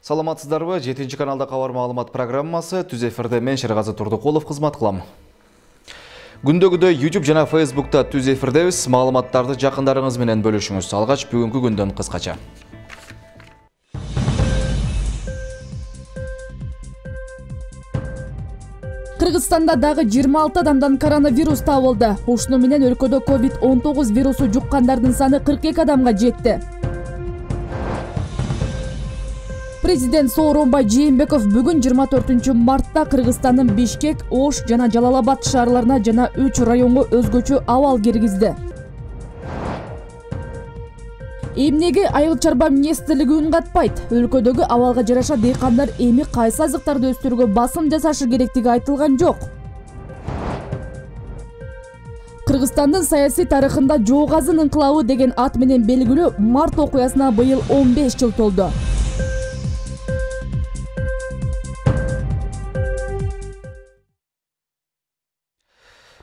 Саламатсыздарбы? 7 каналда кабар маалымат программасы түз эфирде мен Шергазы Турдукулов кызмат кылам. Күндөгүдөй YouTube жана Facebook'та түз эфирдебиз. Маалыматтарды жакындарыңыз менен бөлүшүңүз. Алгач бүгүнкү күндөн кыскача. Кыргызстанда дагы 26 адамдан коронавирус табылды. Ушуну менен өлкөдө COVID-19 вирусу жуккандардын саны 42 адамга жетти. Президент Сооронбай Жээнбеков бүгүн 24 мартта Кыргызстандын Бишкек, Ош жана Жалал-Абад шаарларына жана 3 районго өзгөчө абал киргизди. Эмнеге Айыл чарба министрлиги үн катпайт? Өлкөдөгү абалга жараша дыйкандар эми кайсы азыктарды өстүрүүгө басым жасашы керектиги айтылган жок. Кыргызстандын саясий тарыхында Жоогазын инкылабы деген ат менен белгилүү март окуясына быйыл 15 жыл толду.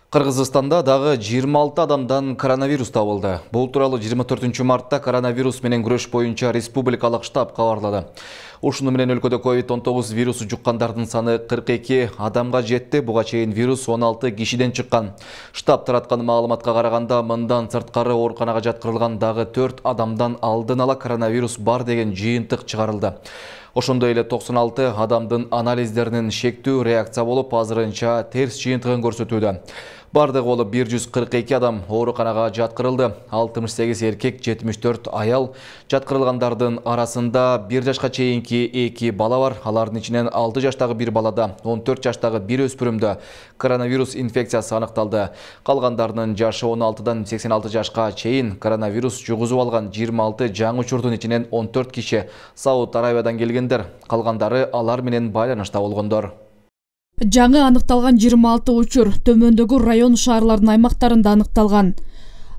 Кыргызстанда дагы 26 адамдан коронавирус табылды. Бул тууралуу 24 мартта коронавирус менен күрөш боюнча республикалык штаб кабарлады. Ушуну менен өлкөдө COVID-19 вирусу жуккандардын саны 42 адамга жетти. Буга чейин вирус 16 кишиден чыккан. Штаб тараткан маалыматка караганда, мындан сырткары ооруканага жаткырылган дагы 4 адамдан алдын ала коронавирус бар деген жыйынтык чыгарылды. Ошондой эле 96 адамдын анализдеринин шектүү реакция болуп, азырынча терс жыйынтыгын көрсөтүүдө. Бардыгы болуп 142 адам ооруканага жаткырылды. 68 эркек, 74 аял. Жаткырылгандардын арасында 1 жашка чейинки 2 бала бар. Алардын ичинен 6 жаштагы 1 балада, 14 жаштагы 1 өспүрүмдө коронавирус инфекциясы аныкталды. Калгандардын жашы 16дан 86 жашка чейин. Коронавирус жугузуп алган 26 жаңы учурдун ичинен 14 киши Сауд Арабиядан келгендер. Калгандары алар менен байланышта болгондор. Жаңы аныкталган 26 учур төмөндөгү район шаарлардын аймактарында аныкталган.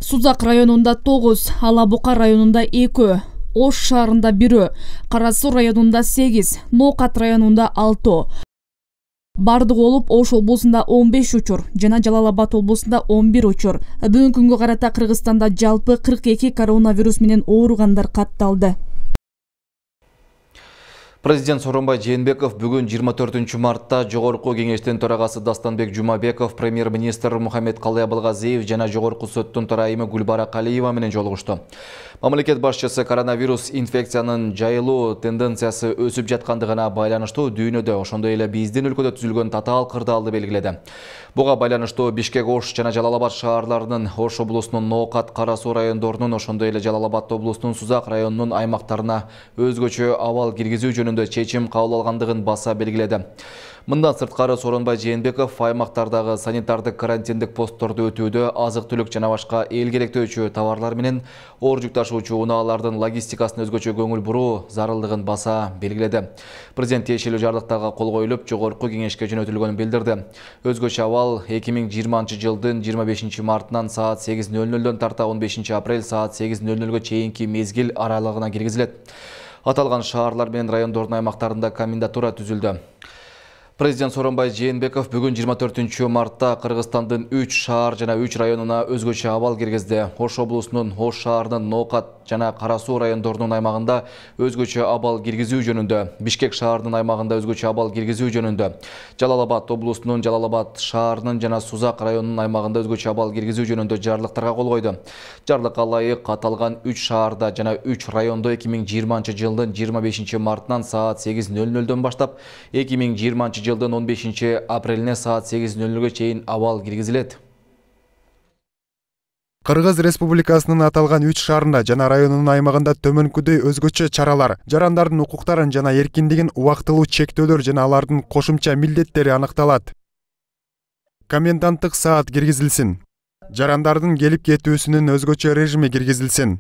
Сузак районунда 9, Алабука районунда 2, Ош шаарында 1, Кара Суу районунда 8, Ноокат районунда 6. Бардыгы болуп Ош облусунда 15 учур жана Жалал-Абад облусунда 11 учур. Бүгүнкү күнгө карата Кыргызстанда жалпы 42 коронавирус менен ооругандар катталды. Президент Сооронбай Жээнбеков бүгүн 24 мартта Жогорку кеңештин төрагасы Дастанбек Жумабеков, премьер-министр Мухаммед-Калый Абылгазиев жана Жогорку соттун төрайымы Гүлбара Калиева менен жолугушту. Мамлекет башчысы коронавирус инфекциянын жайылуу тенденциясы өсүп жаткандыгына байланыштуу дүйнөдө, ошондой эле биздин өлкөдө түзүлгөн татаал кырдаалды белгиледи. Буга байланыштуу Бишкек, Ош жана Жалал-Абад шаарларынын, Ош облусунун Ноокат, Кара Суу райондорунун, ошондой эле Жалал-Абад облусунун Сузак районунун аймактарына өзгөчө абал киргизүү жөнүндө чечим кабыл алгандыгын баса белгиледи. Мындан сырткары Сооронбай Жээнбеков аймактардагы санитардык карантиндик постторду өтүүдө азык-түлүк жана башка эл керектөөчү товарлар менен оор жүк ташуучу унаалардын логистикасын өзгөчө көңүл буруу зарылдыгын баса белгиледи. Президент тиешелүү жардыктарга кол коюлуп, Жогорку кеңешке жөнөтүлгөнүн билдирди. Өзгөчө абал 2020 жылдын 25 мартынан саат 8:00 тарта 15 апрель саат 8:00 чейинки мезгил аралыгына киргизилет. Аталган шаарлар менен райондордун аймактарында комендатура түзүлдү. Президент Сооронбай Жээнбеков бүгүн 24 мартта Кыргызстандын 3 шаар жана 3 районуна өзгөчө абал киргизди. Ош облусунун Ош шаарынын Ноокат жана Кара Суу райондорунун аймагында өзгөчө абал киргизүү жөнүндө, Бишкек шаарынын аймагында өзгөчө абал киргизүү жөнүндө, Жалал-Абад облусунун Жалал-Абад шаарынын жана Сузак районунун аймагында өзгөчө абал киргизүү жөнүндө жарлыктарга кол койду. Жарлыкка ылайык аталган 3 шаарда жана 3 райондо 2020 жылдын 25 мартынан саат 8:00 баштап 2020 жылдын 15 апрелине саат 8:00 чейин абал киргизилет. Кыргыз Республикасынын аталган 3 шаарында жана районунун аймагында төмөнкүдөй өзгөчө чаралар, жарандардын укуктарын жана эркиндигин убактылуу чектөөлөр жана алардын кошумча милдеттери аныкталат. Коменданттык саат киргизилсин. Жарандардын келип кетүүсүнүн өзгөчө режими киргизилсин.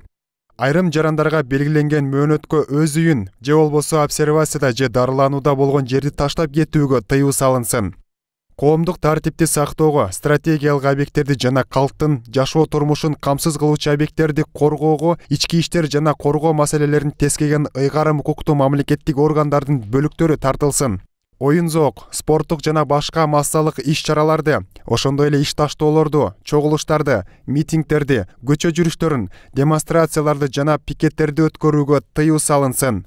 Айрым жарандарга белгиленген мөөнөткө өз үйүн же болбосо обсервацияда же дарыланууда болгон жерди таштап кетүүгө тыюу салынсын. Коомдук тартипти сактоого, стратегиялык объекттерди жана калктын жашоо турмушун камсыз кылуучу объекттерди коргоого, ички иштер жана коргоо маселелерин тескеген ыйгарым укуктуу мамлекеттик органдардын бөлүктөрү тартылсын. Оюн-зоок, спорттук жана башка массалык иш-чараларды, ошондой эле иш таштоолорду, чогулуштарды, митингдерди, көчө жүрүштөрүн, демонстрацияларды жана пикеттерди өткөрүүгө тыюу салынсын.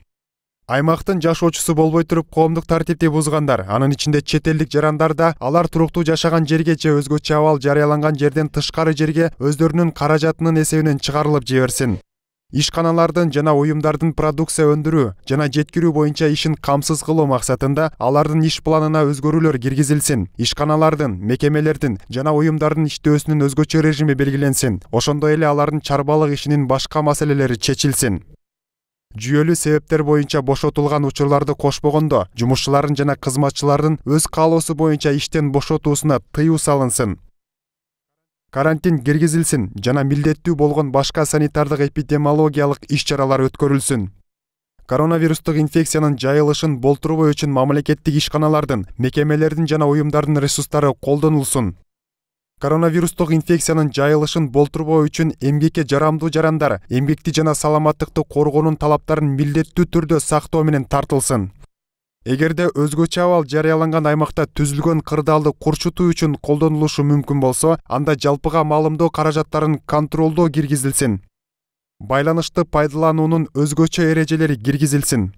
Аймактын жашоочусу болбой туруп коомдук тартипти бузгандар, анын ичинде чет элдик жарандар да алар туруктуу жашаган жерге же өзгөчө абал жарыяланган жерден тышкары жерге өздөрүнүн каражатынын эсебинен чыгарылып жиберсин. Ишканалардын жана уюмдардын продукция өндүрүү жана жеткирүү боюнча ишин камсыз кылуу максатында алардын иш планына өзгөрүүлөр киргизилсин. Ишканалардын, мекемелердин жана уюмдардын иштөөсүнүн өзгөчө режими белгиленсин. Ошондой эле алардын чарбалык ишинин башка маселелери чечилсин. Жүйөлүү себептер боюнча бошотулган учурларды кошпогондо, жумушчулардын жана кызматчылардын өз каалоосу боюнча иштен бошотуусуна тыюу салынсын. Карантин киргизилсин жана милдеттүү болгон башка санитардык эпидемиологиялык иш-чаралар өткөрүлсүн. Коронавирустук инфекциянын жайылышын болтурбоо үчүн мамлекеттик ишканалардын, мекемелердин жана уюмдардын ресурстары колдонулсун. Коронавирустук инфекциянын жайылышын болтурбоо үчүн эмгекке жарамдуу жарандар эмгекти жана саламаттыкты коргоонун талаптарын милдеттүү түрдө сактоо менен тартылсын. Эгерде өзгөчө абал жарыяланган аймакта түзүлгөн кырдаалды курчутуу үчүн колдонулушу мүмкүн болсо, анда жалпыга маалымдоо каражаттарын контролдоо киргизилсин. Байланышты пайдалануунун өзгөчө эрежелери киргизилсин.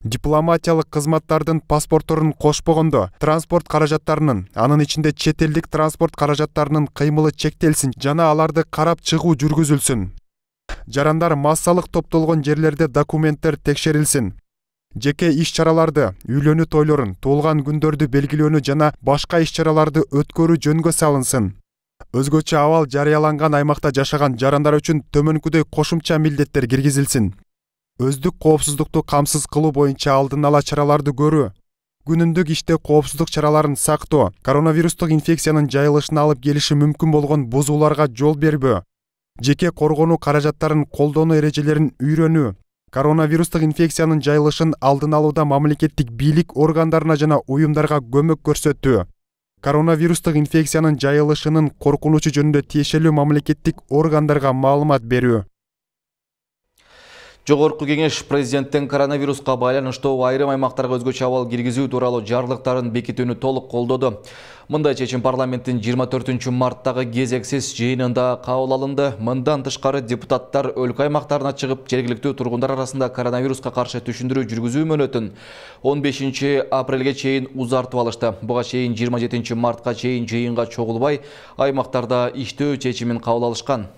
Дипломатиялык кызматтардын паспортторун кошпогондо, транспорт каражаттарынын, анын ичинде чет элдик транспорт каражаттарынын кыймылы чектелсин жана аларды карап чыгуу жүргүзүлсүн. Жарандар массалык топтолгон жерлерде документтер текшерилсин. Жеке иш-чараларды, үйлөнүү тойлорун, туулган күндөрдү белгилөөнү жана башка иш-чараларды өткөрүү жөнгө салынсын. Өзгөчө абал жарыяланган аймакта жашаган жарандар үчүн төмөнкүдөй кошумча милдеттер киргизилсин. Өздүк коопсуздукту камсыз кылуу боюнча алдын ала чараларды көрүү, күнүмдүк иште коопсуздук чараларын сактоо, коронавирустук инфекциянын жайылышына алып келиши мүмкүн болгон бузууларга жол бербөө, жеке коргонуу каражаттарын колдонуу эрежелерин үйрөнүү, коронавирустук инфекциянын жайылышын алдын алууда мамлекеттик бийлик органдарына жана уюмдарга көмөк көрсөтүү, коронавирустук инфекциянын жайылышынын коркунучу жөнүндө тиешелүү мамлекеттик органдарга маалымат берүү. Жогорку кеңеш президенттин коронавируска байланыштуу айрым аймактарга өзгөчө абал киргизүү тууралуу жарлыктарын бекитүүнү толук колдоду. Мындай чечим парламенттин 24-марттагы кезексиз жыйынында кабыл алынды. Мындан тышкары депутаттар өлкө аймактарына чыгып, жергиликтүү тургундар арасында коронавируска каршы түшүндүрүү жүргүзүү мөөнөтүн 15 апрелге чейин узартып алышты. Буга чейин 27 мартка чейин жыйынга чогулбай, аймактарда иштөө чечимин кабыл алышкан.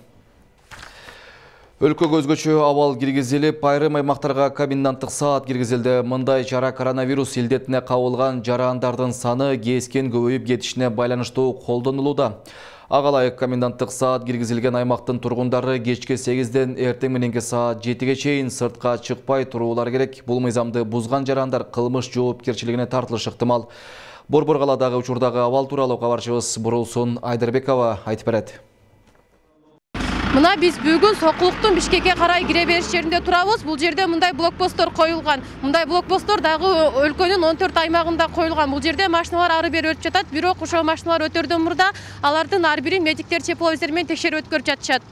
Өлкөгө өзгөчө абал киргизилип, айрым аймактарга коменданттык саат киргизилди. Мындай чара коронавирус илдетине кабылган жарандардын саны кескен көбөйүп кетишине байланыштуу колдонулууда. Ага ылайык коменданттык саат киргизилген аймактын тургундары кечки 8ден эртең мененки саат 7ге чейин сыртка чыкпай туруулары керек. Бул мыйзамды бузган жарандар кылмыш жоопкерчилигине тартылышы ыктымал. Борбор калаадагы учурдагы абал тууралуу кабарчыбыз Бурулсун Айдарбекова айтып берет. Мына биз бүгүн Сокулуктун Бишкекке карай кире бериш жеринде турабыз. Бул жерде мындай блокпосттор коюлган. Мындай блокпосттор дагы өлкөнүн 14 аймагында коюлган. Бул жерде машиналар ары бери өтүп жатат, бирок ошол машиналар өтөрдөн мурда алардын ар бирин медиктер тепловизор менен текшерип өткөрүп жатышат.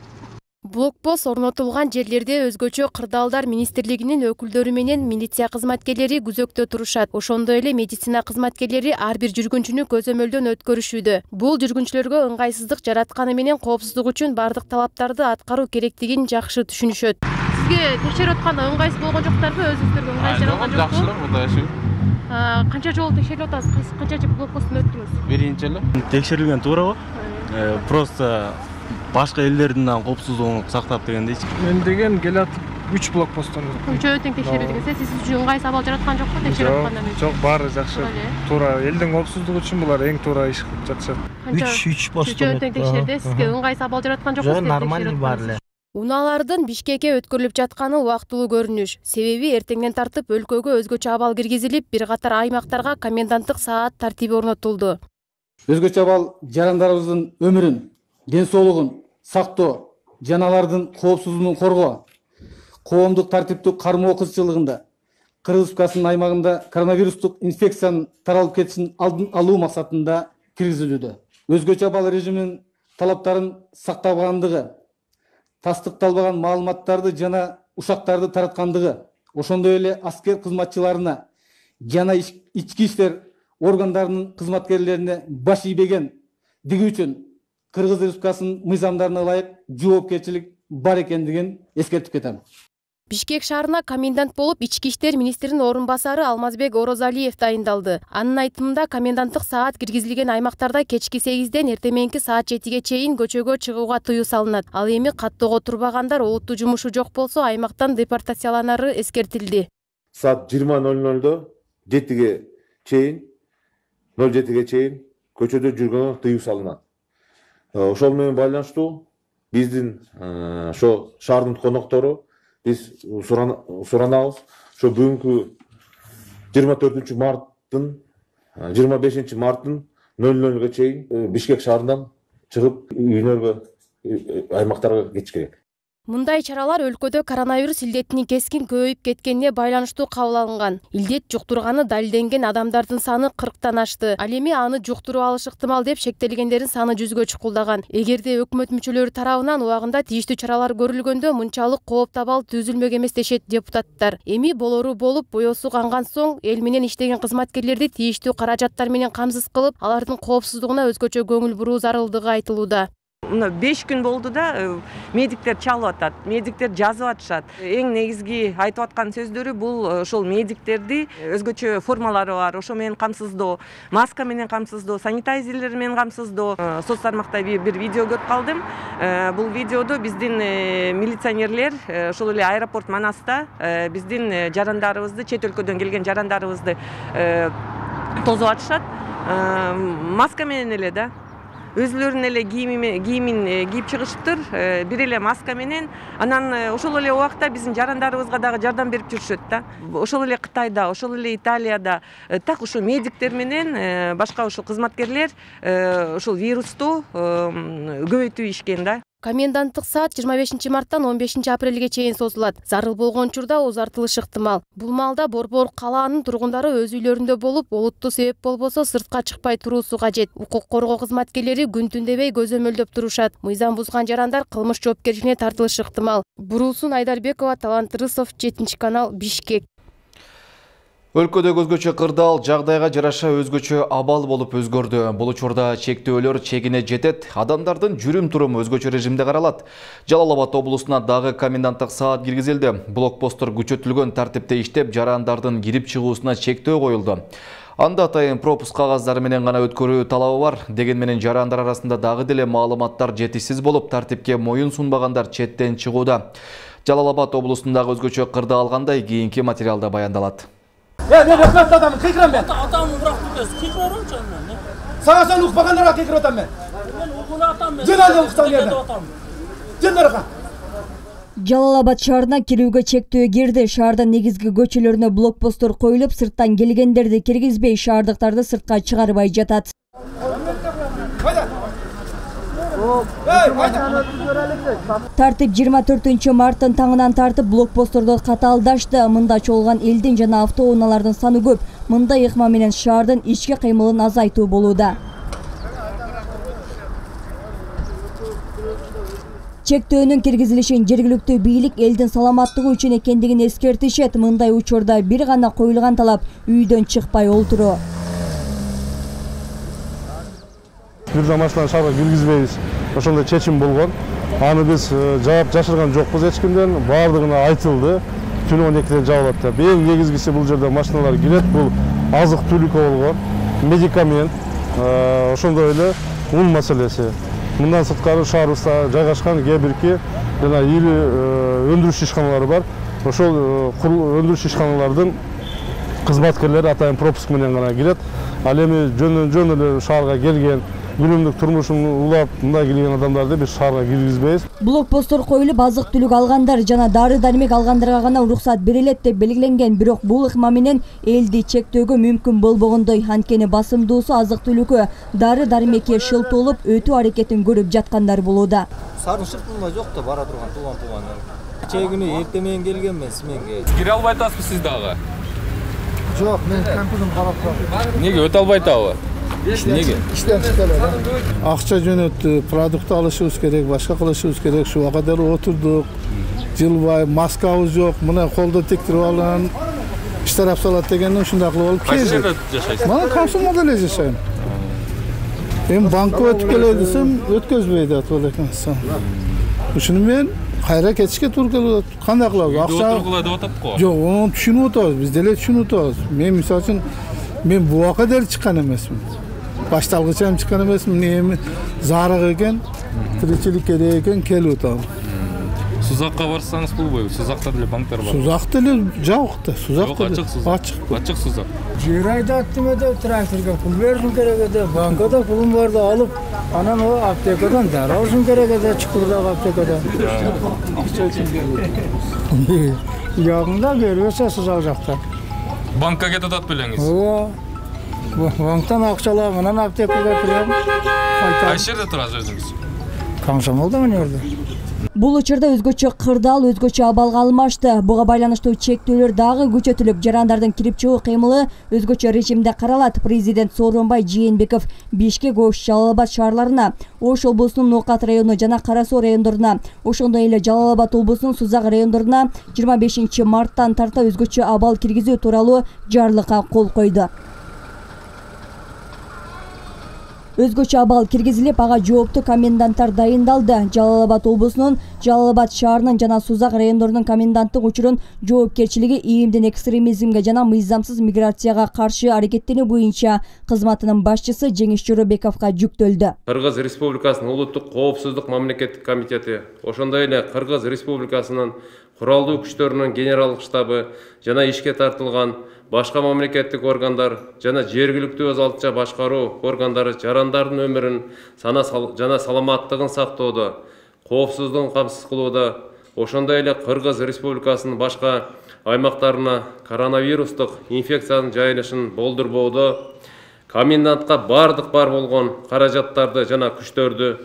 Блокпост орнотулган жерлерде өзгөчө кырдаалдар министрлигинин өкүлдөрү менен милиция кызматкерлери күзөктө турушат. Ошондой эле медицина кызматкерлери ар бир жүргүнчүнү көзөмөлдөн өткөрүшүүдө. Бул жүргүнчүлөргө ыңгайсыздык жаратканы менен коопсуздук үчүн бардык талаптарды аткаруу керектигин жакшы түшүнүшөт. Сизге текшерип атканда ыңгайсыз болгон жоктарбы? Өзүңүздөргө ыңгайсыз жаралган жокпу? Жакшылык мындай. Канча жолу текшерип атасыз? Канча блокпосттон өттүңүз? Биринчи эле. Текшерилген туурабы? Просто башка элдердин коопсуздугун сактап дегендейчи. Мен деген келатып 3 блокпосттон. Канча тең текшерилген? Сиз үчүн ыңгайсыз абал жараткан жокпу текшерип атканда? Жок, баары жакшы. Туура элдин коопсуздугу үчүн булар эң туура иш кылып жатышат. 3 посттон тең текшерди. Сизге ыңгайсыз абал жараткан жокпу? Жок, нормально баары эле. Унаалардын Бишкекке өткөрүлүп жатканы убактылуу көрүнүш. Себеби эртеңден тартып өлкөгө өзгөчө абал киргизилип, бир катар аймактарга коменданттык саат тартиби орнотулду. Өзгөчө абал жарандарыбыздын өмүрүн, ден соолугун сактоо жана алардын коопсуздугун коргоо коомдук тартиптүү кармоо кызчылыгында Кыргыз Республикасынын аймагында коронавирустук инфекциянын таралып кетишин алдын алуу максатында киргизилүүдө. Өзгөчө абал режиминин талаптарын сактабагандыгы, тастыкталбаган маалыматтарды жана ушактарды тараткандыгы, ошондой эле аскер кызматчыларына жана ички иштер органдарынын кызматкерлерине баш ийбегендиги үчүн Кыргыз Республикасынын мыйзамдарына ылайык жоопкерчилик бар экендигин эскертип кетем. Бишкек шаарына комендант болуп ички иштер министринин орун басары Алмазбек Орозалиев дайындалды. Анын айтымында коменданттык саат киргизилген аймактарда кечки 8-ден эртең саат 7-ге чейин көчөгө чыгууга тыюу салынат. Ал эми каттоого турбагандар олуттуу жумушу жок болсо аймактан депортацияланары эскертилди. Саат 20:00 7-ге чейин 07-ге чейин көчөдө жүргөнгө тыюу салынат. Ошол менен байланыштуу биздин ошо шаардын коноктору биз суранабыз. Ошо бүгүнкү 24 марттын 25 марттын 00-ге чейин Бишкек шаарынан чыгып үйлөргө, аймактарга кетиш керек. Мындай чаралар өлкөдө коронавирус илдетинин кескин көбөйүп кеткенине байланыштуу кабыл алынган. Илдет жуктурганы далилденген адамдардын саны 40-тан ашты. Ал эми аны жуктуруп алыш ыктымал деп шектелгендердин саны 100-гө чукулдаган. Эгерде өкмөт мүчөлөрү тарабынан убагында тийиштүү чаралар көрүлгөндө мынчалык кооп табал түзүлмөк эмес дешет депутаттар. Эми болору болуп, боесу канган соң эл менен иштеген кызматкерлерди тийиштүү каражаттар менен камсыз кылып, алардын коопсуздугуна өзгөчө көңүл буруу зарылдыгы айтылууда. 5 күн болду да медиктер чалып атат, медиктер жазып атышат. Эң негизги айтып аткан сөздөрү бул ошол медиктерди өзгөчө формалары бар, ошо менен камсыздоо, маска менен камсыздоо, санитайзерлер менен камсыздоо. Соц тармакта бир видео көрүп калдым. Бул видеодо биздин милиционерлер ошол эле аэропорт Манаста биздин жарандарыбызды, чет өлкөдөн келген жарандарыбызды тосуп атышат. Маска менен эле да. Өзлөрүнүн эле кийимин кийип чыгышыптыр, бир эле маска менен. Анан ошол эле убакта биздин жарандарыбызга дагы жардам берип жүрүшөт да. Ошол эле Кытайда, ошол эле Италияда так ошо медиктер менен башка ошол кызматкерлер ошол вирусту көбөйтүп ишкен да. Коменданттык саат 25 марттан 15 апрелге чейин созулат. Зарыл болгон учурда узартылышы ыктымал. Бул маалда Борбор калаанын тургундары өз үйлөрүндө болуп, олуттуу себеп болбосо сыртка чыкпай туруусу кажет. Укук коргоо кызматкерлери күн-түн дебей көзөмөлдөп турушат. Мыйзам бузган жарандар кылмыш жоопкерчилигине тартылышы ыктымал. Буруусун Айдарбекова, Талант Рысов, 7-канал, Бишкек. Өлкөдөгү өзгөчө кырдаал жагдайга жараша өзгөчө абал болуп өзгөрдү. Бул учурда чектөөлөр чегине жетет, адамдардын жүрүм-туруму өзгөчө режимде каралат. Жалал Абад облусуна дагы коменданттык саат киргизилди. Блокпосттор күчөтүлгөн тартипте иштеп, жарандардын кирип чыгуусуна чектөө коюлду. Анда атайын пропуск кагаздары менен гана өткөрүү талабы бар. Деген менен жарандар арасында дагы деле маалыматтар жетишсиз болуп, тартипке моюн сунбагандар четтен чыгууда. Жалал Абад облусундагы өзгөчө кырдаал кандай кийинки материалда баяндалат. Ben öpmez adamı, kıykıram ben. Adamı bıraktım ben, kıykıram canım ben. Sana sen ukbakanlara kıykıram ben. Ben okula atam ben. Cenaze uksan yerden. Cenderaka. Жалал Абад шаарына кирүүгө чектөө кирди. Шаардын негизги көчөлөрүнө блокпосттор коюлуп, сырттан келгендерди киргизбей, шаардыктарды сыртка чыгарбай жатат. Тартип 24 марттын таңынан тартып блокпостторду катаалдашты. Мында чогулган элдин жана автоунаалардын саны көп. Мындай ыкма менен шаардын ички кыймылын азайтуу болууда. Чектөөнүн киргизилишин жергиликтүү бийлик элдин саламаттыгы үчүн экендигин эскертишет. Мындай учурда бир гана коюлган талап үйдөн чыкпай олтуруу. Бир да машинаны шаарга киргизбейбиз. Ошондой чечим болгон. Аны биз жаап жашырган жокпуз эч кимден. Баардыгына айтылды. Түнү 12-ден жабылат деп. Эң негизгиси бул жерде машиналар кирет. Бул азык-түлүк болгон, медикамент, ошондой эле ун маселеси. Мындан сырткары шаарыбызда жайгашкан кээ бирки жана ири өндүрүш ишканалары бар. Ошол өндүрүш ишканалардын кызматкерлери атайын пропуск менен гана кирет. Ал эми жөн эле шаарга келген күнүмдүк турмушун улап мындай келген адамдарды биз шаарга киргизбейбиз. Блокпосттор коюлуп, азык-түлүк алгандар жана дары-дармек алгандарга гана уруксат берилет деп белгиленген, бирок бул ыкма менен элди чектөөгө мүмкүн болбогондой. Анткени басымдуусу азык-түлүккө, дары-дармекке шылтуулуп өтүү аракетин көрүп жаткандар болууда. Сарын шыртылма жок да бара турган тууган-туугандар. Чегүнү эртең менен келгенмен сменге. Кире албай атасызбы сиз дагы? Жок, мен компьютерди карап турам. Эмнеге өтө албай атабы? Неге? İşten çıkarlar. Akça jönöttü, produkt alışыбыз керек, başka kılışыбыз керек. Şu kadar oturduk. Жылбай, маскабыз жок. Мына колдо тектирип алган. Иштарап салат дегенден ушундай кылып алып келдик. Кайсы жерде жашайсыз? Мына Комсомолдо эле жашайм. Эми банкка өтүп келе десем, өткөзбөйт атып элекен. Ушуну мен кайра кетишке туура келип атат. Кандай кылабыз? Акча отургула деп атат го. Жок, ону түшүнүп атабыз. Биз деле түшүнүп атабыз. Мен мисалы үчүн мен буакка деле чыккан эмесмин. Башталгыча ham чыккан эмесмин. Эми зарык экен, тиричилик керек экен келип атам. Сузакка барсаңыз болбойбу. Сузакта деле банктар бар. Сузак деле жок да. Сузак ачык сузак. Ачык сузак. Жер айдаттым да тракторга пул беришим керек эди. Банкада пулум барды алып, анан о аптекадан дары алышым керек эди, чукурдагы аптекадан. Жагында бербесе сузак жакта. Банкка кетип атат белеңиз. Ооба. Банктан акча алам, анан аптекага кирем. Кайсы жерде турасыз өзүңүз? Комсомолдо мен жерде. Бул учурда өзгөчө кырдаал, өзгөчө абалга алмашты. Буга байланыштуу чектөөлөр дагы күчөтүлүп, жарандардын кирип чыгуу кыймылы өзгөчө режимде каралат. Президент Сооронбай Жээнбеков Бишкек, Ош, Жалал Абад шаарларына, Ош облусунун Ноокат району жана Кара Суу райондоруна, ошондой эле Жалал Абад облусунун Сузак райондоруна 25 марттан тарта өзгөчө абал киргизүү тууралуу жарлыкка кол койду. Өзгөчө абал киргизилип, ага жооптуу коменданттар дайындалды. Жалал Абад облусунун Жалал Абад шаарынын жана Сузак райондорунун коменданттык учурун жоопкерчилиги ийимдин экстремизмге жана мыйзамсыз миграцияга каршы аракеттенүү боюнча кызматынын башчысы Жеңиш Жоробековго жүктөлдү. Кыргыз Республикасынын улуттук коопсуздук мамлекеттик комитети, ошондой эле Кыргыз Республикасынын куралдуу күчтөрүнүн генералдык штабы жана ишке тартылган башка мамлекеттик органдар жана жергиликтүү өз алдынча башкаруу органдары жарандардын өмүрүн жана саламаттыгын сактоодо, коопсуздугун камсыз кылууда, ошондой эле Кыргыз Республикасынын башка аймактарына коронавирустук инфекциянын жайылышын болдурбоодо, комендантка бардык бар болгон каражаттарды жана күчтөрдү,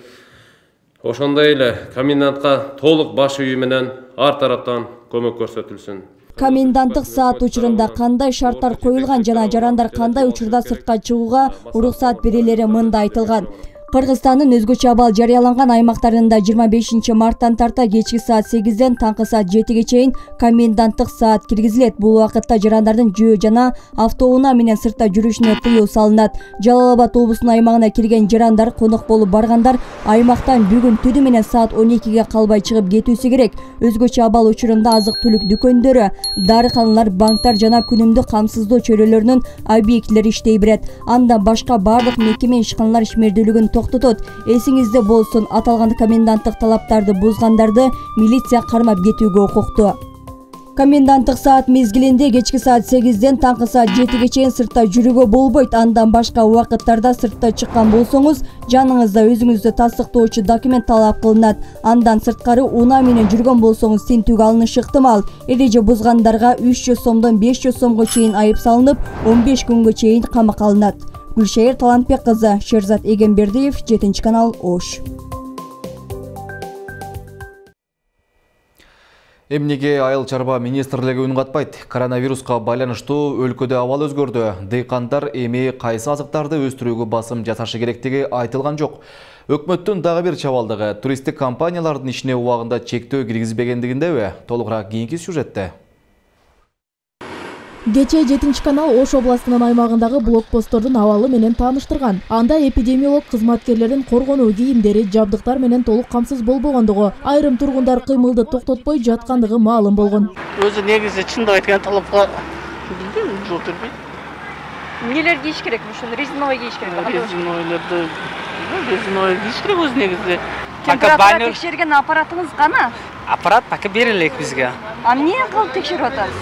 ошондой эле комендантка толук баш үйү менен ар тараптан көмөк көрсөтүлсүн. Коменданттык саат учурунда кандай шарттар коюлган жана жарандар кандай учурда сыртка чыгууга уруксат берилери мында айтылган. Кыргызстандын өзгөчө абал жарыяланган аймактарында 25 марттан тарта кечки саат 8ден таңкы саат 7ге чейин коменданттык саат киргизилет. Бул убакытта жарандардын жөө жана автоунаа менен сыртта жүрүшүнө тыюу салынат. Жалал Абад облусунун аймагына кирген жарандар, конок болуп баргандар аймактан бүгүн түнү менен саат 12ге калбай чыгып кетүүсү керек. Өзгөчө абал учурунда азык-түлүк дүкөндөрү, дарыканалар, банктар жана күнүмдүк камсыздоо чөйрөлөрүнүн объектилери иштей берет. Андан башка бардык мекеме ишканалар ишмердүүлүгүн токтотот. Эсиңизде болсун, аталган коменданттык талаптарды бузгандарды милиция кармап кетүүгө укуктуу. Коменданттык саат мезгилинде кечки саат 8ден таңкы саат 7ге чейин сыртта жүрүүгө болбойт. Андан башка убакыттарда сыртта чыккан болсоңуз, жаныңызда өзүңүздү тастыктоочу документ талап кылынат. Андан сырткары унаа менен жүргөн болсоңуз, тинтүүгө алынышы ыктымал. Эреже бузгандарга 300 сомдон 500 сомго чейин айып салынып, 15 күнгө чейин камакка алынат. Гүлшайыр Талантбек кызы, Шерзат Эгембердиев, 7-канал, Ош. Эмнеге Айыл чарба министрлиги үн катпайт? Коронавируска байланыштуу өлкөдө абал өзгөрдү. Дыйкандар эми кайсы азыктарды өстүрүүгө басым жасашы керектиги айтылган жок. Өкмөттүн дагы бир чабалдыгы туристтик компаниялардын ишине убагында чектөө киргизбегендигиндеби? Толугураак кийинки сюжетте. Кечээ 7-канал Ош областынын аймагындагы блокпосттордун абалы менен тааныштырган. Анда эпидемиолог кызматкерлерин коргонуу кийимдери, жабдыктар менен толук камсыз болбогондугу, айрым тургундар кыймылды токтотпой жаткандыгы маалым болгон. Өзү негизи чындап айтканда талапка жол бербейт. Эмнелер кийиш керек? Ошону резиновый кийиш керек. Резиновый кийиш керек өзү негизи. Температура текшерген аппаратыңыз кана? Аппарат пока берилек бизге. А эмне кылып текшерип атасыз?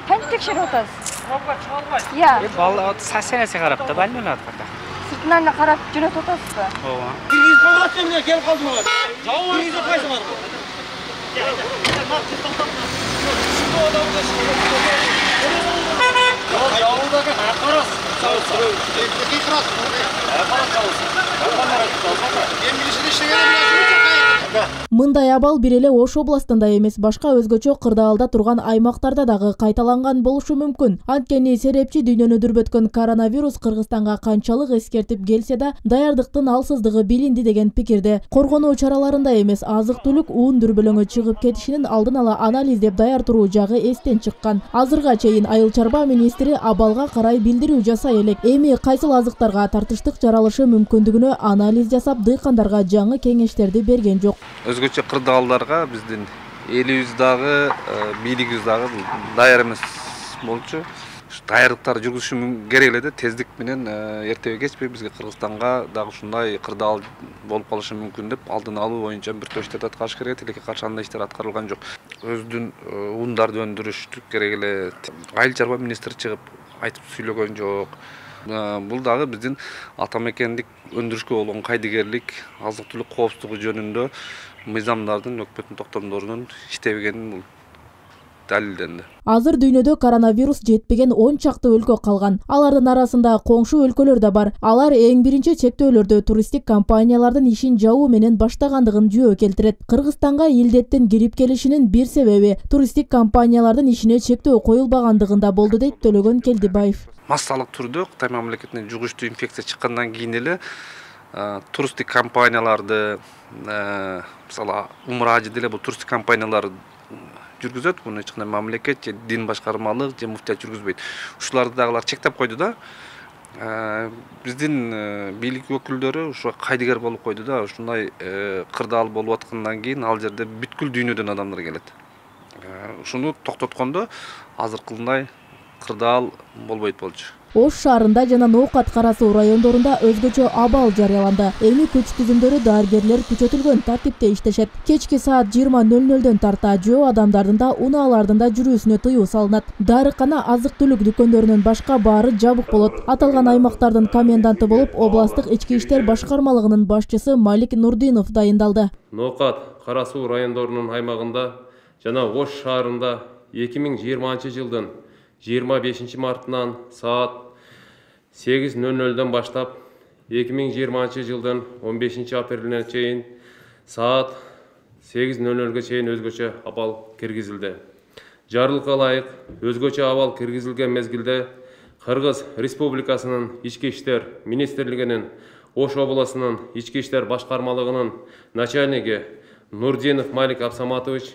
Кантип текшерип атасыз? Пробка чыгарбайт. Иә. Бала сасенесе карап да байланат пока. Сыртынан эле карап жөнөтүп атасызбы? Ооба. Киргизип койгон эмне келип калдым ага. Киргизип койсоңор. Жабылдагы акарас. Мындай абал бир эле Ош областында эмес, башка өзгөчө кырдаалда турган аймактарда дагы кайталанган болушу мүмкүн. Анткени серепчи дүйнөнү дүрбөткөн коронавирус Кыргызстанга канчалык эскертип келсе да, даярдыктын алсыздыгы билинди деген пикирде. Коргонуу чараларында эмес, азык-түлүк уун дүрбөлөңү чыгып кетишинин алдын ала анализдеп даяр туруу жагы эстен чыккан. Азырга чейин Айыл чарба министри абалга карай билдирүү жасай элек. Эми кайсыл азыктарга тартыштык жаралышы мүмкүндүгүнө анализ жасап, дыйкандарга жаңы кеңештерди берген жок. өзгөчө кырдаалдарга биздин элибиз дагы бийлигибиз дагы даяр эмес болчу. Даярдыктар жүргүзүшү керек эле да, тездик менен эртеби кечпей бизге Кыргызстанга дагы ушундай кырдаал болуп калышы мүмкүн деп алдын алуу боюнча бир топ иштерди аткарыш керек. Тилекке каршы андай иштер аткарылган жок. Өздүн ундарды өндүрүш керек эле. Айыл чарба министри чыгып айтып сүйлөгөн жок. Бул дагы биздин ата мекендик өндүрүшкө болгон кайдыгерлик, азык түлүк коопсуздугу жөнүндө мыйзамдардын, өкмөттүн токтомдорунун иштебегенин бул далилденди. Азыр дүйнөдө коронавирус жетпеген 10 чакты өлкө калган. Алардын арасында коңшу өлкөлөр да бар. Алар эң биринчи чектөөлөрдү туристтик компаниялардын ишин жабуу менен баштагандыгын жөө келтирет. Кыргызстанга илдеттин кирип келишинин бир себеби туристтик компаниялардын ишине чектөө коюлбагандыгында болду дейт Төлөгөн Келдибаев. Массалык түрдө Кытай мамлекетинен жугуштуу инфекция чыккандан кийин эле туристтик компанияларды, мисалы умра ажы деле бул туристтик компаниялар жүргүзөт. Буну эч кандай мамлекет же дин башкармалык же муфтият жүргүзбөйт. Ушуларды дагылар чектеп койду да. Биздин бийлик өкүлдөрү ушу кайдыгер болуп койду да. Ушундай кырдаал болуп аткандан кийин ал жерде бүткүл дүйнөдөн адамдар келет. Ушуну токтоткондо азыркындай кырдаал болбойт болчу. Ош шаарында жана Ноокат Кара Суу райондорунда өзгөчө абал жарыяланды. Эми күч түзүмдөрү дарыгерлер күчөтүлгөн тартипте иштешет. Кечки саат 20:00 тарта жөө адамдардын да унаалардын да жүрүүсүнө тыюу салынат. Дарыкана, азык-түлүк дүкөндөрүнөн башка баары жабык болот. Аталган аймактардын коменданты болуп областык ички иштер башкармалыгынын башчысы Малик Нурдинов дайындалды. Ноокат Кара Суу райондорунун аймагында жана Ош шаарында 2020 жылдын 25 мартынан саат 8:00 баштап 2020 жылдын 15 апрелине чейин саат 8:00 чейин өзгөчө абал киргизилди. Жарлыкка ылайык өзгөчө абал киргизилген мезгилде Кыргыз Республикасынын Ички иштер министрлигинин Ош областынын Ички иштер башкармалыгынын начальниги Нурдинов Малик Абсаматович,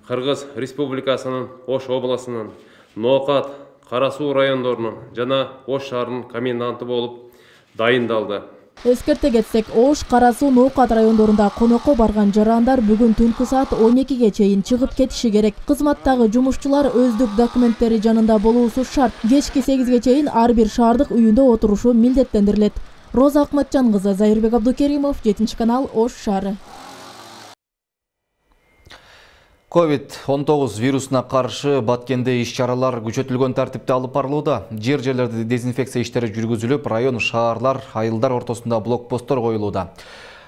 Кыргыз Республикасынын Ош областынын Ноокат Кара Суу райондорунун жана Ош шаарынын коменданты болуп дайындалды. Эскерте кетсек, Ош, Кара Суу, Ноокат райондорунда конокко барган жарандар бүгүн түнкү саат 12ге чейин чыгып кетиши керек. Кызматтагы жумушчулар өздүк документтери жанында болуусу шарт. Кечки 8ге чейин ар бир шаардык үйүндө отурушу милдеттендирилет. Роза Акматжан кызы, Зайырбек Абдукеримов, 7-канал, Ош шаары. COVID-19 вирусуна каршы Баткенде иш-чаралар күчөтүлгөн тартипте алып барылууда. Жер-жерлерде дезинфекция иштери жүргүзүлүп, район, шаарлар, айылдар ортосунда блокпосттор коюлууда.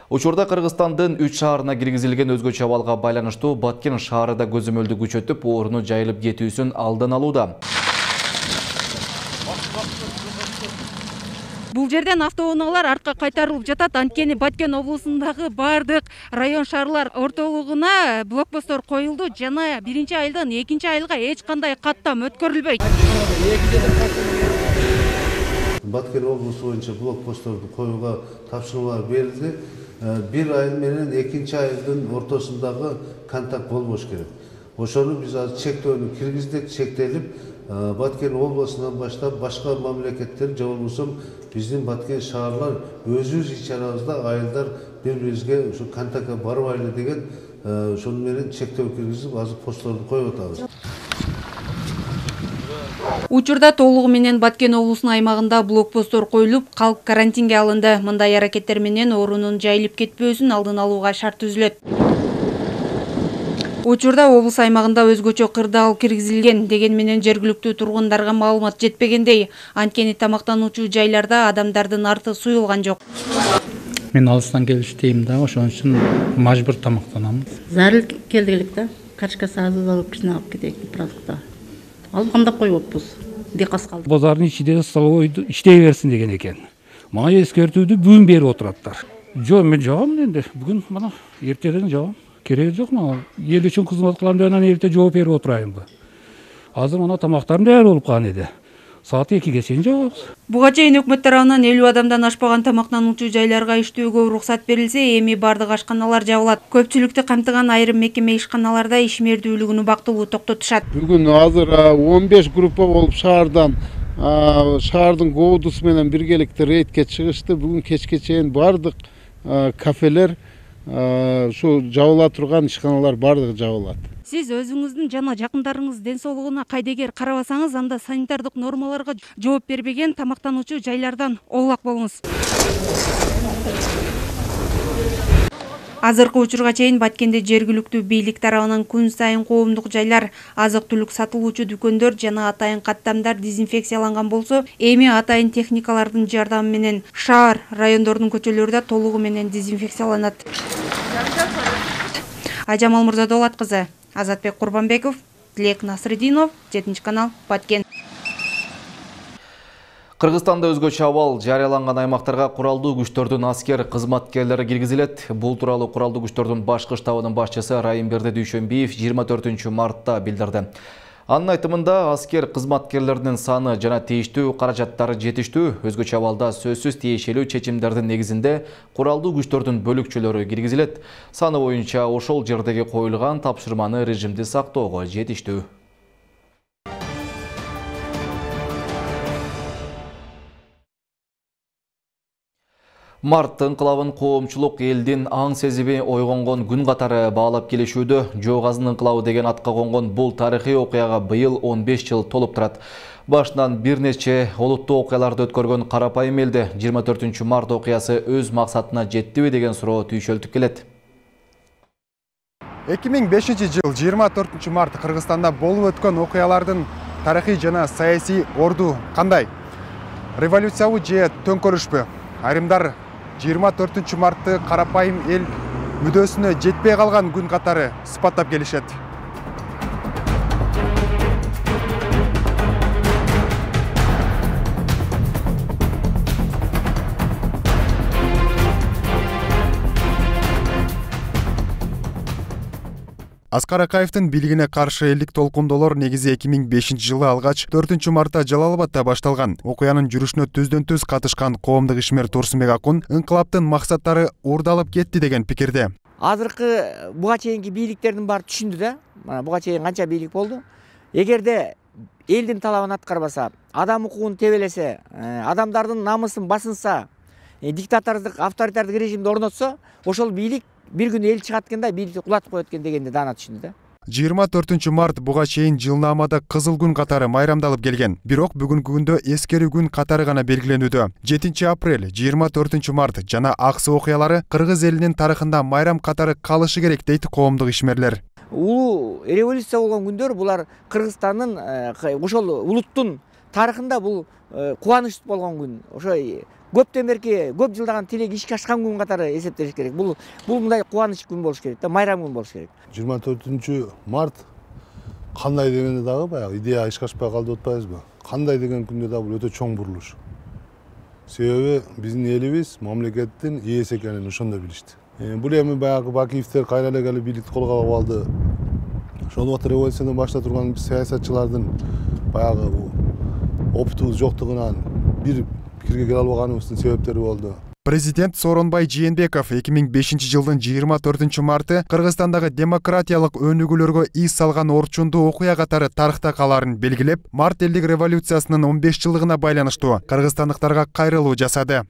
Учурда Кыргызстандын 3 шаарына киргизилген өзгөчө абалга байланыштуу Баткен шаары да көзөмөлдү күчөтүп, ооруну жайылып кетүүсүн алдын алууда. Бул жерден автоунаалар артка кайтарылып жатат. Анткени Баткен облусундагы бардык район шаарлар ортолугуна блокпосттор коюлду жана 1-айылдан 2-айылга эч кандай каттам өткөрүлбөйт. Баткен облусу боюнча блокпостторду коюуга тапшырмалар берилди. 1 айыл менен 2-айылдын ортосундагы контакт болбош керек. Ошону биз азыр чектөөнү киргиздик, чектелип, Баткен облусунан баштап башка мамлекеттер же болбосо биздин Баткен шаарлар өзүбүз иш-чарабызда айылдар бири-бирибизге ушу контактка барбайлы деген ошону менен чектөө киргизип азыр постторду коюп атабыз. Учурда толугу менен Баткен облусунун аймагында блокпосттор коюлуп, калк карантинге алынды. Мындай аракеттер менен оорунун жайылып кетпөөсүн алдын алууга шарт түзүлөт. Учурда облус аймагында өзгөчө кырдаал киргизилген, деген менен жергиликтүү тургундарга маалымат жетпегендей. Анткени тамактануучу жайларда адамдардын арты суюлган жок. Мен алыстан келиштейм да, ошон үчүн мажбур тамактанамыз. Зарыл келдик элек да, качкасы азыр алып кичине алып кетейик продукта. Алгандап койбоппуз. Декас калды. Базардын ичинде столовойду иштей берсин деген экен. Мага эскертүүдү бүгүн берип отураптар. Жок, мен жагам энди. Бүгүн мына эртеден жагам. Кереги жок мага. Эл үчүн кызмат кылам деп анан эрте жооп берип отурайынбы. Азыр мына тамактарым даяр болуп калган эди. Саат 2ге чейин жабабыз. Буга чейин өкмөт тарабынан 50 адамдан ашпаган тамактануучу жайларга иштөөгө уруксат берилсе, эми бардык ашканалар жабылат. Көпчүлүктү камтыган айрым мекеме ишканаларда ишмердүүлүгүнү бактылуу токтотушат. Бүгүн азыр 15 группа болуп шаардын коодусу менен биргеликте рейдке чыгышты. Бүгүн кечке чейин бардык кафелер ушу жабыла турган ишканалар баардыгы жабылат. Сиз өзүңүздүн жана жакындарыңыз ден соолугуна кайдегер карабасаңыз, анда санитардык нормаларга жооп бербеген тамактануучу жайлардан оолак болуңуз. Азыркы учурга чейин Баткенде жергиликтүү бийлик тарабынан күн сайын коомдук жайлар, азык-түлүк сатылуучу дүкөндөр жана атайын каттамдар дезинфекцияланган болсо, эми атайын техникалардын жардамы менен шаар, райондордун көчөлөрү да толугу менен дезинфекцияланат. Ажам Алмурзадолат кызы, Азатбек Курбанбеков, Тилек Насридинов, 7-канал, Баткен. Кыргызстанда өзгөчө абал жарыяланган аймактарга куралдуу күчтөрдүн аскер кызматкерлери киргизилет. Бул тууралуу куралдуу күчтөрдүн башкы штабынын башчысы Райымберди Дүйшөнбиев 24-мартта билдирди. Анын айтымында аскер кызматкерлеринин саны жана тийиштүү каражаттары жетиштүү, өзгөчө абалда сөзсүз тиешелүү чечимдердин негизинде куралдуу күчтөрдүн бөлүкчөлөрү киргизилет. Саны боюнча ошол жердеги коюлган тапшырманы режимди сактоого жетиштүү. Март ыңкылабын коомчулук элдин аң сезиби ойгонгон күн катары баалап келишүүдө. Жоо Казын ыңкылабы деген атка конгон бул тарыхый окуяга быйыл 15 жыл толуп турат. Башынан бир нече олуттуу окуяларды өткөргөн карапайым элде 24-март окуясы өз максатына жеттиби деген суроо түйшөлтүп келет. 2005-жыл 24-март Кыргызстанда болуп өткөн окуялардын тарыхый жана саясий орду кандай? Революциябы же төңкөрүшпү? Айрымдар 24-мартты карапайым эл мүдөөсүнө жетпей калган күн катары сыпаттап келишет. Аскар Акаевдин бийлигине каршы элдик толкундолор негизи 2005-жылы алгач 4-мартта Жалал-Абадта башталган. Окуянын жүрүшүнө түздөн-түз катышкан коомдук ишмер Турсунбек Акун ыңкылаптын максаттары уурдалып кетти деген пикирде. Азыркы буга чейинки бийликтердин баары түшүндү да. Мана буга чейин канча бийлик болду. Эгерде элдин талабын аткарбаса, адам укугун тебелесе, адамдардын намысын басынса, диктатордук, авторитардык режимди орнотсо, ошол бийлик бир күн эл чыгат экен да, бийликти кулатып коет экен дегенди даана түшүндү да. 24-март буга чейин жылнаамада кызыл күн катары майрамдалып келген. Бирок бүгүнкү күндө эскерүү күн катары гана белгиленүүдө. 7-апрель, 24-март жана аксы окуялары кыргыз элинин тарыхында майрам катары калышы керек дейт коомдук ишмерлер. Улуу революция болгон күндөр булар Кыргызстандын ошол улуттун тарыхында бул кубаныч болгон күн. Ошо көптөн берки көп жылдаган тилеги ишке ашкан күн катары эсептеш керек. Бул мындай кубаныч күн болуш керек да, майрам күн болуш керек. 24-март кандай дегенде дагы баягы идея ишке ашпай калды деп атпайбызбы? Кандай деген күндө да бул өтө чоң бурулуш. Себеби биздин элибиз мамлекеттин ээси экенин ошондо билишти. Бул эми баягы Бакиевдер кайра эле келип бийликти колго алып алды. Ошол убакта революциядан башта турган саясатчылардын баягы опытыбыз жоктугунан бир пикирге келе албаганыбыздын себептери болду. Президент Сооронбай Жээнбеков 2005-жылдын 24-марты Кыргызстандагы демократиялык өнүгүүлөргө из салган орчундуу окуя катары тарыхта калаарын белгилеп, март элдик революциясынын 15 жылдыгына байланыштуу кыргызстандыктарга кайрылуу жасады.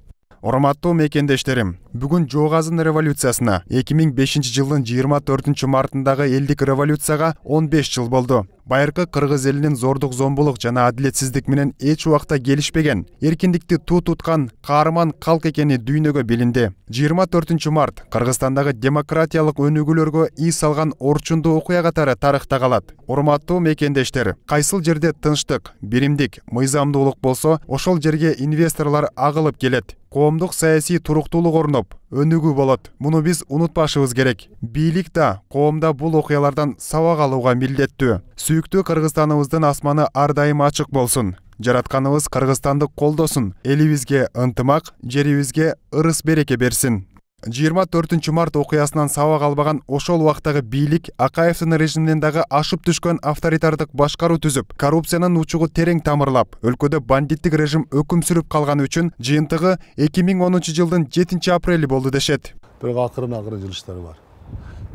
Урматтуу мекендештерим, бүгүн Жоо Казын революциясына 2005-жылдын 24-мартындагы элдик революцияга 15 жыл болду. Байыркы кыргыз элинин зордук зомбулук жана адилетсиздик менен эч убакта келишпеген, эркиндикти туу туткан каарман калк экени дүйнөгө билинди. 24-март Кыргызстандагы демократиялык өнүгүүлөргө из салган орчундуу окуя катары тарыхта калат. Урматтуу мекендештер, кайсыл жерде тынчтык, биримдик, мыйзамдуулук болсо, ошол жерге инвесторлор агылып келет. Коомдук саясий туруктуулук орноп, өнүгүү болот. Муну биз унутпашыбыз керек. Бийлик да, коом да бул окуялардан сабак алууга милдеттүү. Сүйүктүү Кыргызстаныбыздын асманы ар дайым ачык болсун. Жаратканыбыз Кыргызстанды колдосун. Элибизге ынтымак, жерибизге ырыс береке берсин. 24-март окуясынан сабак албаган ошол убактагы бийлик Акаевдин режиминен дагы ашып түшкөн авторитардык башкаруу түзүп, коррупциянын учугу терең тамырлап, өлкөдө бандиттик режим өкүм сүрүп калган үчүн жыйынтыгы 2010-жылдын 7-апрели болду дешет. Бирок акырын жылыштары бар.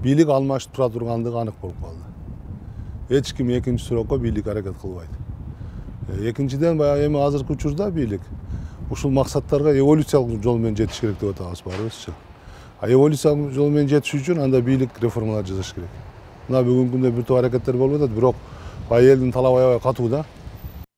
Бийлик алмашып тура тургандыгы анык болуп калды. Эч ким экинчи суракка бийлик аракет кылбайт. Экинчиден баягы эми азыркы учурда бийлик ушул максаттарга эволюциялык жол менен жетиш керек деп атабыз баарыбызчы. Эволюция жолу менен жетиш үчүн анда бийлик реформалар жасаш керек. Мына бүгүнкү күндө бир топ аракеттер болуп атат, бирок элдин талабы аябай катуу да.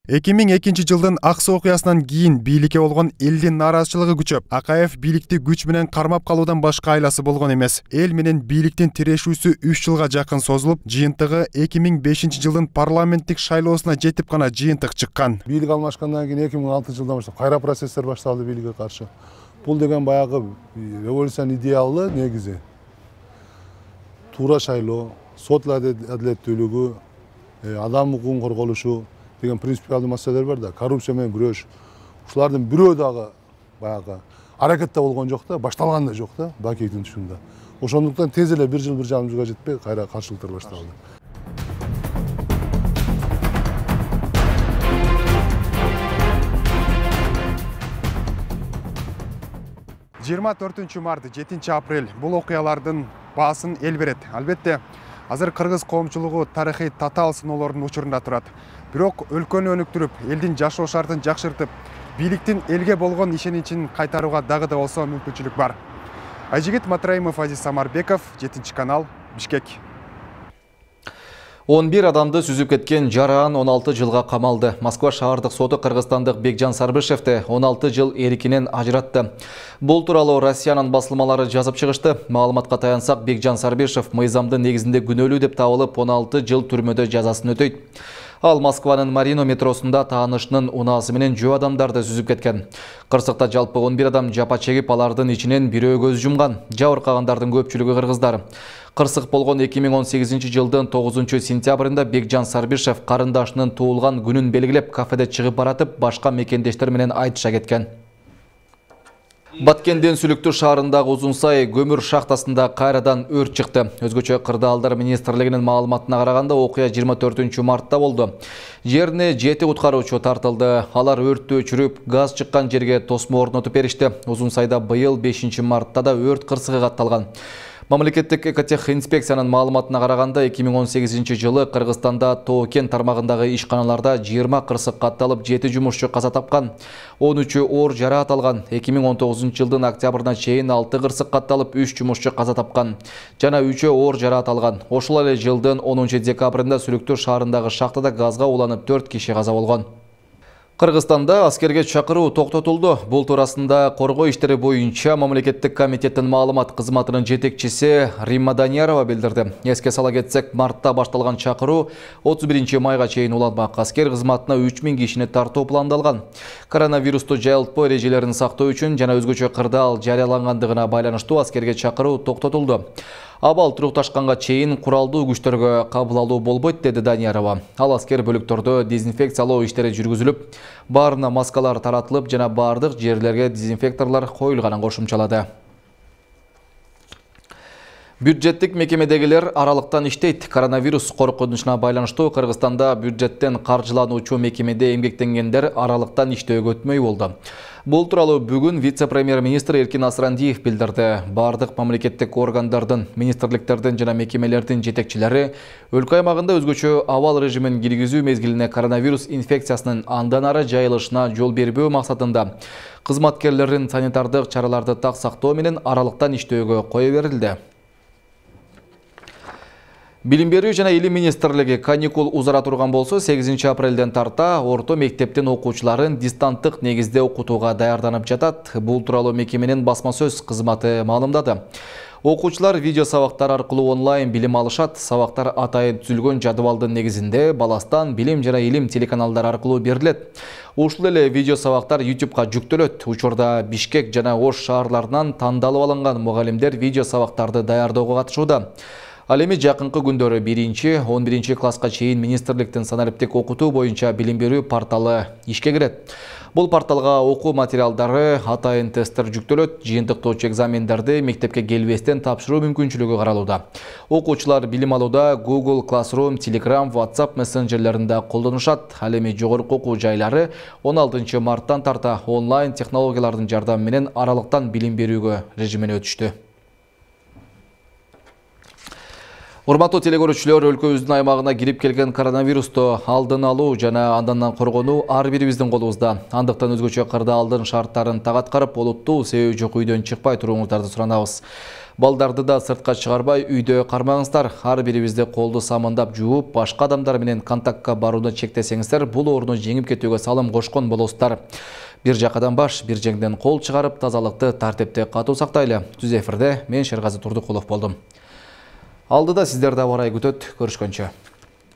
2002 жылдын Аксы окуясынан кийин бийликке болгон элдин нааразычылыгы күчөп, Акаев бийликти күч менен кармап калуудан башка айласы болгон эмес. Эл менен бийликтин тирешүүсү 3 жылга жакын созулуп, жыйынтыгы 2005 жылдын парламенттик шайлоосуна жетип гана жыйынтык чыккан. Бийлик алмашкандан кийин 2006 жылдан баштап кайра процесстер башталды бийликке каршы. Бул деген баягы революциянын идеалы негизи. Туура шайлоо, сот адилеттүүлүгү, адам укугун корголушу деген принципиалдуу маселелер бар да, коррупция менен күрөш. Ушулардын бирөө дагы баягы аракетте болгон жок да, башталган да жок да, Бакиевдин түшүндө. Ошондуктан тез эле 1 жыл 1,5 жылга жетпей кайра каршылыктар башталды. 24 март, 7 апрель бул окуялардын баасын эл берет. Албетте, азыр кыргыз коомчулугу тарыхый татаал сыноолордун учурунда турат. Бирок өлкөнү өнүктүрүп, элдин жашоо шартын жакшыртып, бийликтин элге болгон ишеничин кайтарууга дагы да болсо мүмкүнчүлүк бар. Айжигит Матраимов, Азиз Самарбеков, 7 канал, Бишкек. 11 адамды сүзүп кеткен жараан 16 жылга камалды. Москва шаардык соту кыргызстандык Бекжан Сарбышевди 16 жыл эркинен ажыратты. Бул тууралуу Россиянын басылмалары жазып чыгышты. Маалыматка таянсак, Бекжан Сарбышев мыйзамдын негизинде күнөөлүү деп табылып 16 жыл түрмөдө жазасын өтөйт. Ал Москванын Марино метросунда таанышынын унаасы менен жөө адамдарды сүзүп кеткен. Кырсыкта жалпы 11 адам жапа чегип, алардын ичинен бирөө көз жумган. Жабыркагандардын көпчүлүгү кыргыздар. Кырсык болгон 2018 жылдын 9 сентябрында Бекжан Сарбышев карындашынын туулган күнүн белгилеп кафеде чыгып баратып, башка мекендештер менен айтыша кеткен. Баткендин Сүлүктүү шаарындагы Узунсай көмүр шахтасында кайрадан өрт чыкты. Өзгөчө Кырдаалдар министрлигинин маалыматына караганда, окуя 24 мартта болду. Жерине 7 куткаруучу тартылды. Алар өрттү өчүрүп, газ чыккан жерге тосмо орнотуп беришти. Узунсайда быйыл 5 мартта да өрт кырсыгы катталган. Мамлекеттик экотех инспекциянын маалыматына караганда, 2018 жылы Кыргызстанда Тоо-Кен тармагындагы ишканаларда 20 кырсык катталып, 7 жумушчу каза тапкан, 13 оор жараат алган. 2019 жылдын октябрына чейин 6 кырсык катталып, 3 жумушчу каза тапкан жана 3 оор жараат алган. Ошол эле жылдын 10 декабрында Сүлүктүү шаарындагы шахтада газга уланып 4 киши каза болгон. Кыргызстанда аскерге чакыруу токтотулду. Бул туурасында коргоо иштери боюнча мамлекеттик комитеттин маалымат кызматынын жетекчиси Римма Даниярова билдирди. Эске сала кетсек, мартта башталган чакыруу 31 майга чейин уланмак. Аскер кызматына 3000 кишини тартуу пландалган. Коронавирусту жайылтпоо эрежелерин сактоо үчүн жана өзгөчө кырдаал жарыялангандыгына байланыштуу аскерге чакыруу токтотулду. Абал турукташканга чейин куралдуу күчтөргө кабыл алуу болбойт, деди Даниярова. Ал аскер бөлүктөрдө дезинфекциялоо иштери жүргүзүлүп, баарына маскалар таратылып жана бардык жерлерге дезинфекторлор коюлганын кошумчалады. Бюджеттик мекемедегилер аралыктан иштейт. Коронавирус коркунучуна байланыштуу Кыргызстанда бюджеттен каржылануучу мекемеде эмгектенгендер аралыктан иштөөгө өтмөй болду. Бул тууралуу бүгүн вице-премьер-министр Эркин Асрандиев билдирди. Бардык мамлекеттик органдардын, министрликтердин жана мекемелердин жетекчилери өлкө аймагында өзгөчө абал режимин киргизүү мезгилине коронавирус инфекциясынын андан ары жайылышына жол бербөө максатында кызматкерлердин санитардык чараларды так сактоо менен аралыктан иштөөгө кое берилди. Билим берүү жана илим министрлиги каникул узара турган болсо, 8 апрелден тарта орто мектептин окуучуларын дистанттык негизде окутууга даярданып жатат. Бул тууралуу мекеменин басма сөз кызматы маалымдады. Окуучулар видео сабактар аркылуу онлайн билим алышат. Сабактар атайын түзүлгөн жадыбалдын негизинде Баластан билим жана илим телеканалдары аркылуу берилет. Ушул эле видео сабактар YouTube'га жүктөлөт. Учурда Бишкек жана Ош шаарларынан тандалып алынган мугалимдер видео сабактарды даярдоого катышууда. Ал эми жакынкы күндөрү 1-11 класска чейин министрликтин санариптик окутуу боюнча билим берүү порталы ишке кирет. Бул порталга окуу материалдары, атайын тесттер жүктөлөт, жыйынтыктоочу экзамендерди мектепке келбестен тапшыруу мүмкүнчүлүгү каралууда. Окуучулар билим алууда Google Classroom, Telegram, WhatsApp мессенджерлеринде колдонушат. Ал эми жогорку окуу жайлары 16 марттан тарта онлайн технологиялардын жардамы менен аралыктан билим берүүгө режимине өтүштү. Урматтуу телекөрүүчүлөр, өлкөбүздүн аймагына кирип келген коронавирусту алдын алуу жана андан коргонуу ар бирибиздин колубузда. Андыктан өзгөчө кырдаалдын шарттарын так аткарып, олуттуу себеби жок үйдөн чыкпай туруңуздарды суранабыз. Балдарды да сыртка чыгарбай үйдө кармаңыздар. Ар бирибизди колду самындап жууп, башка адамдар менен контактка барууну чектесеңиздер, бул ооруну жеңип кетүүгө салым кошкон болосуздар. Бир жакадан баш, бир жеңден кол чыгарып, тазалыкты тартипти катуу сактайлы. Түз эфирде мен Шергази Турдукулов болдум. Алдыда сиздерди аба ырайы күтөт. Көрүшкөнчө.